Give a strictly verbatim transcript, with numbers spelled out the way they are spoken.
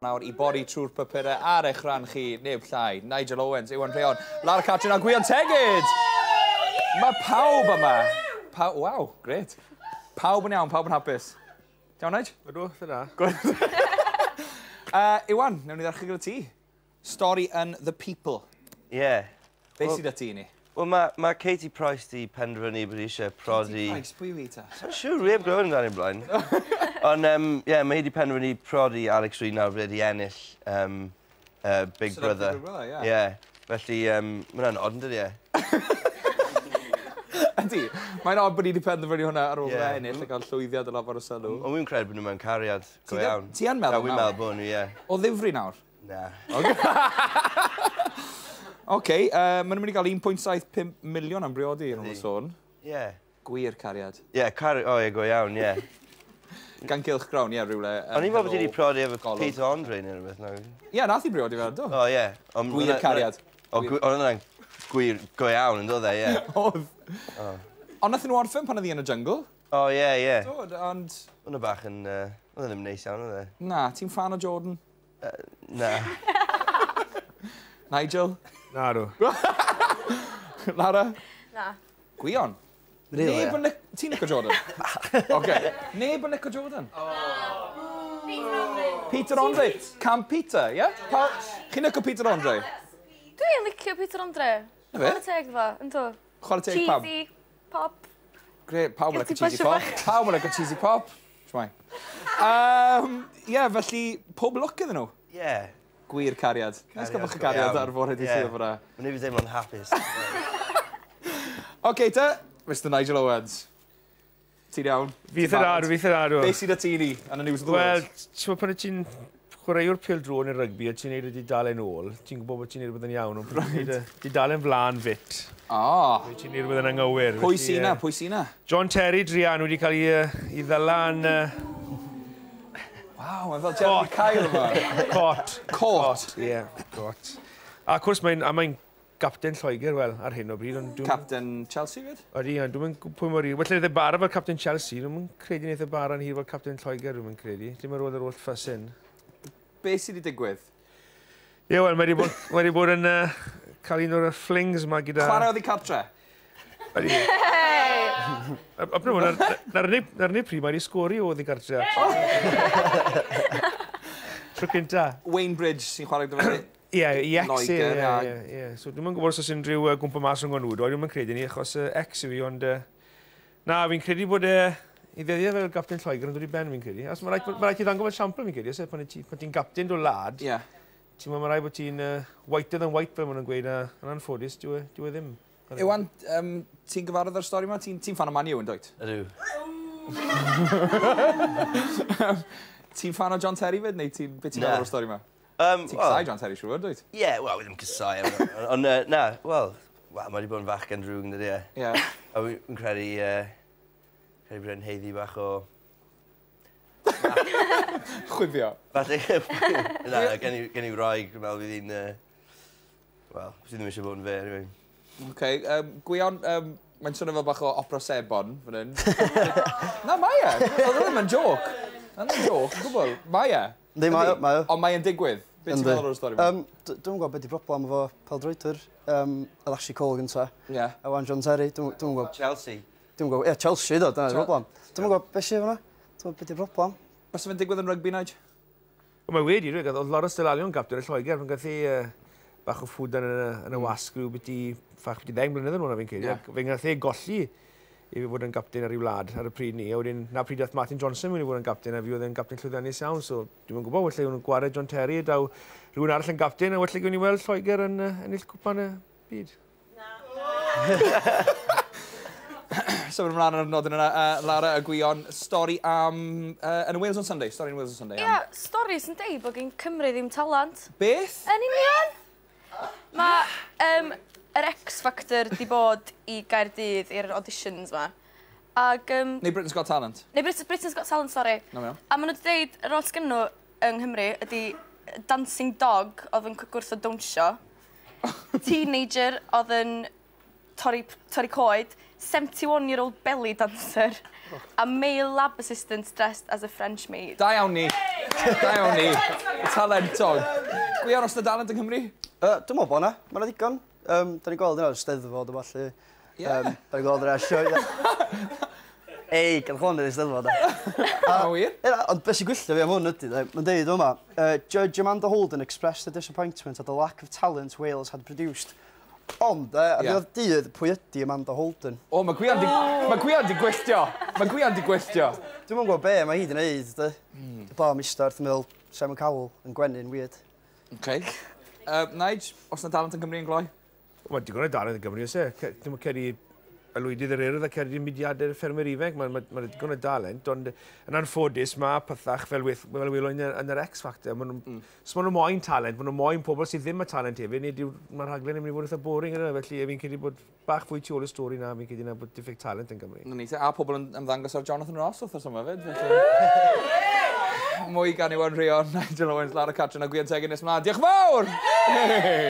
Nawr i bori trwy'r papurau ar eich rhan chi, neb llai, Nigel Owens, Iwan Rheon, Lara Catrin a Gwion Tegid! Mae pawb yma. Pa Waw, grêt. Pawb yn iawn, pawb yn hapus. Iawn, Nigel? Ydw, dyna. Good. uh, Iwan, newn ni ddechrau gyda ti. Stori yn The People. Ie. Yeah. Be well, sydd â ti ni? Wel, mae ma Katie Price di penderfynu bod eisiau prodi... Katie Price, pwy yw hi ta? Sa'n siŵr, wi heb glywed amdani blaen. Ond, um, ie, yeah, mae hi di penderfynu prodi Alex Reid nawr wedi ennill um, uh, Big Brother. Big Brother, ie. Yeah. Felly, um, mae hwnna'n od, yn dydi e? Ydy, mae'n od bod ni wedi penderfynu hwnna ar ôl yeah. ennill a cael llwyddiant yn lawer o sylw. Ond wy'n credu bod nhw mewn cariad, go iawn. Ti yn meddwl nawr? Wy'n meddwl bod nhw, ie. O ddifri nawr? Na. Oce, uh, maen nhw'n mynd i gael un pwynt saith pump miliwn am briodi yn ôl y sôn. Ie. Gwir cariad. Ie, yeah, cari... O, ie, go iawn, ie. Gan gylch grawn, ie, rhywle. O'n i'n meddwl bod ti wedi priodi efo Peter Andre neu rhywbeth. Ie, yeah, nath i briodi fe, do. O, ie. Gwir cariad. O, oedd hwnna'n gwir go iawn yn dod e, ie. Oedd. Ond nath nhw orffen pan oedd hi yn y jungle. O, ie, ie. Do, ond... Oedd bach yn... Oedd e ddim neis iawn, oedd e? Na, ti'n fan o Jordan? Na. Nigel? Na, dw. Lara? Na. Gwion? Really? Neb yn... Ti'n licio Jordan? Oce. Neb yn licio Jordan? Peter Andre. Peter Andre. Cam Peter, ie? Chi'n licio Peter Andre? Dwi'n licio Peter Andre. Na fe? Chwarae teg fo, ynddo? Chwarae teg pam? Cheesy pop. Grêt, pawb yn licio cheesy pop. Pawb yn licio cheesy pop. Shwmae. Ie, felly, pob lwc iddyn nhw. Ie. Gwir cariad. Nes gael bach o gariad ar fore di Sul fyna. Mae'n ei fi deimlo'n hapus. Oce te, Mister Nigel Owens. Ti'n iawn? Fi eitha da, fi eitha da. Be sydd â ti ni yn y News of the World? Wel, ti'n pan ti'n chwaraewr pêl-droed neu rygbi a ti'n neud y dudalen ôl, ti'n gwybod bod ti'n neud rhywbeth yn iawn, ond pan ti'n neud y dudalen flaen fit. O! Ti'n neud rhywbeth yn anghywir. Pwy sy 'na? Pwy sy 'na? John Terry druan wedi cael ei ddala yn... Waw, mae'n fel Jeremy Kyle yma. Cot. Cot? Ie, cot. A cwrs, mae'n mae'n gapten Lloegr, wel, ar hyn o bryd. Capten Chelsea, fyd? Ydy, ond dwi'n mynd pwy mor hir. Well, wnaeth e bara fel capten Chelsea, dwi'n mynd credu wnaeth e bara'n hir fel capten Lloegr, dwi'n mynd credu. Lle mae roedd yr oll ffys hyn. Be sydd wedi digwydd? Ie, wel, mae wedi bod, mae wedi bod yn uh, cael un o'r flings yma gyda... Chwarae oddi cartre? Ydy. A na'r unig pryd mae wedi sgori o oddi cartre. Tro cynta. Wayne Bridge sy'n chwarae gyda fe? Ie, i ex e, ie, ie. So dwi'm yn gwybod os oes unrhyw gwmpa mas rhwng nhw, dwi'm yn credu ni, achos ex yw i, ond... Na, fi'n credu bod e... I ddyddiau fel gapten Lloegr yn dod i ben, fi'n credu. Os mae rhaid ti ddangos fel siampl, fi'n credu, os e, pan ti'n gapten do lad, ti'n meddwl mae rhaid bod ti'n whiter than white, fel maen nhw'n gweud, a yn anffodus, dyw e ddim. Iwan, ti'n gyfarwydd â'r stori yma? Ti'n fan o Man U, yn dwyt? Ydw. Ti'n fan o John Terry fyd, neu ti'n beth ti'n meddwl o'r stori yma? Ti'n casau John Terry, siŵr, dwyt? Ie, wel, wi ddim casau. Ond na, wel, mae wedi bod yn fachgen drwg, yn dydi e? Ie. A wy'n credu, credu bod e'n haeddu bach o... Chwifio. Falle, na, gen i wraig, dwi'n meddwl fydd hi'n... Wel, sydd ddim eisiau bod yn fe, anyway. Oce, Gwion, mae'n swnio fel bach o opera sebon, fan hyn. Na, mae e! Oedd ddim yn joc. Oedd ddim yn joc, yn gwbl. Mae e. Yndi, mae o, mae o. Ond mae e'n digwydd. Be ti'n meddwl o'r stori yma? Dwi'm yn gwybod beth di broblem efo pêl-droedwyr. Oedd Ashley Cole gynta. Ie. A wan John Terry, dwi'm yn gwybod. Chelsea. Dwi'm yn gwybod, ie, Chelsea, do, dyna'r broblem. Dwi'm yn gwybod beth sydd fan'na. Dwi'm yn gwybod beth di'r broblem. Byse fe'n digwydd yn rygbi, Nige? Mae wedi, rwy'n oedd Lawrence Dallaglio gapten y Lloegr, fe'n gath ei bach o ffwdan yn y wasg rhyw byti, ffach byti ddeng blynedd yn ôl, fi'n credu. Fe'n gath ei golli i fi fod yn gapten ar ei wlad ar y pryd ni. A wedyn, na pryd dath Martin Johnson mewn i fod yn gapten, a fi oedd yn gapten llwyddiannus iawn, so dwi'm yn gwybod, felly nhw'n gwared John Terry, daw rhywun arall yn gapten, a felly gewn ni weld Lloegr yn ennill cwpan y byd. Na. Symud ymlaen ar y nodyn yna, Lara a Gwion, stori am... Yn Wales on Sunday, stori yn Wales on Sunday. Ie, stori sy'n deud bod gen Cymru ddim talent. Beth? Yn union! Mae um, yr X Factor di bod i Gaerdydd i'r auditions ma. Ag, um, neu Britain's Got Talent. Neu Brit Britain's Got Talent, sori. No, no. A maen nhw wedi dweud, yr oll sgyn nhw yng Nghymru ydi dancing dog oedd yn gwrthod dawnsio, teenager oedd yn torri, torri coed, seventy-one-year-old belly dancer, a male lab assistant dressed as a French maid. Da iawn ni. Da iawn ni. Talentog. Gwion, oes 'na dalent yng Nghymru? Uh, dwi'n meddwl bod 'na. Mae 'na ddigon. Um, da ni'n gweld yna Steddfod o falle. Ie. Um, da ni'n gweld yna sioe. Ei, gael hwn i'r Steddfod. A wir? Ie, ond beth sy'n gwylltio fi am hwn ydy, de, mae'n deud yma, uh, Judge Amanda Holden expressed her disappointment at the lack of talent Wales had produced. Ond, uh, ar Ie. ddiwedd dydd, pwy ydy Amanda Holden? O, mae Gwion di... Mae Gwion di gwylltio. Mae Gwion di gwylltio. Dwi'm yn gwybod be mae hi di wneud, de. Mm. Bo, mister, wrth meddwl Simon Cowell yn gwenu'n weird. Okay. Uh, Nige, oes 'na dalent yn Gymru yn gloi? Mae digon o dalent yn Gymru, oes e? Ce- Dim ond ceri Aelwydydd yr Urdd a ceri mudiadau'r ffermwyr ifanc, mae ma, ma digon o dalent, ond yn anffodus mae pethach fel, weth, fel welon yn, yn yr X Factor, ma nhw, mm. so maen nhw moyn talent, maen nhw moyn pobl sydd ddim â talent hefyd, neu mae'r rhaglen yn mynd i fod eitha boring yna, felly fi'n credu bod bach fwy tu ôl y stori na, fi'n credu na bod diffyg talent yn Gymru. Na ni, te, a pobl yn ymddangos ar Jonathan Ross wrth yma fyd. Felly. Mwy gan Iwan Rheon, Nigel Owens, Lara Catrin a Gwion Tegid nes mlaen. Diolch yn fawr!